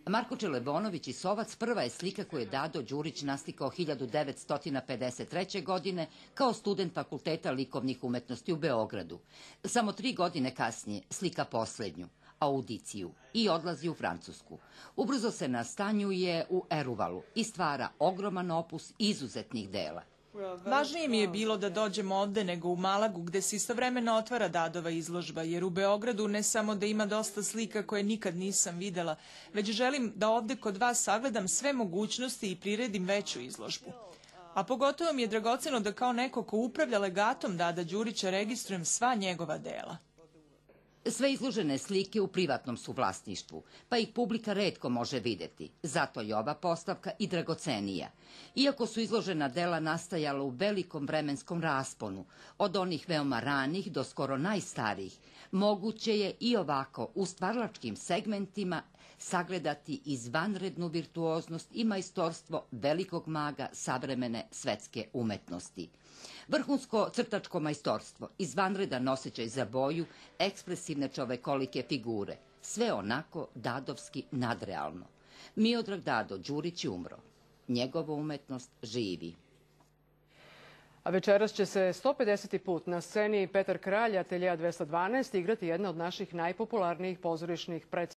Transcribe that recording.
Marko Čelebonović i Sovac prva je slika koju je Dado Đurić naslikao 1953. godine kao student Fakulteta likovnih umetnosti u Beogradu. Samo 3 godine kasnije slika poslednju, Audiciju, i odlazi u Francusku. Ubrzo se nastanjuje u Eruvalu i stvara ogroman opus izuzetnih dela. Važnije mi je bilo da dođem ovde nego u Malagu, gde se istovremeno otvara Dadova izložba, jer u Beogradu ne samo da ima dosta slika koje nikad nisam videla, već želim da ovde kod vas sagledam sve mogućnosti i priredim veću izložbu. A pogotovo mi je dragoceno da kao neko ko upravlja legatom Dada Đurića registrujem sva njegova dela. Sve izložene slike u privatnom su vlasništvu, pa ih publika retko može videti. Zato je ova postavka i dragocenija. Iako su izložena dela nastajala u velikom vremenskom rasponu, od onih veoma ranih do skoro najstarijih, moguće je i ovako u stvaralačkim segmentima sagledati izvanrednu virtuoznost i majstorstvo velikog maga savremene svetske umetnosti. Vrhunsko crtačko majstorstvo, izvanredan osjećaj za boju, ekspresivne čovekolike figure, sve onako dadovski nadrealno. Miodrag Dado Đurić je umro. Njegova umetnost živi. A večeras će se 150. put na sceni Petar Kralj, Ateljea 212, igrati jedna od naših najpopularnijih pozorišnih predstava.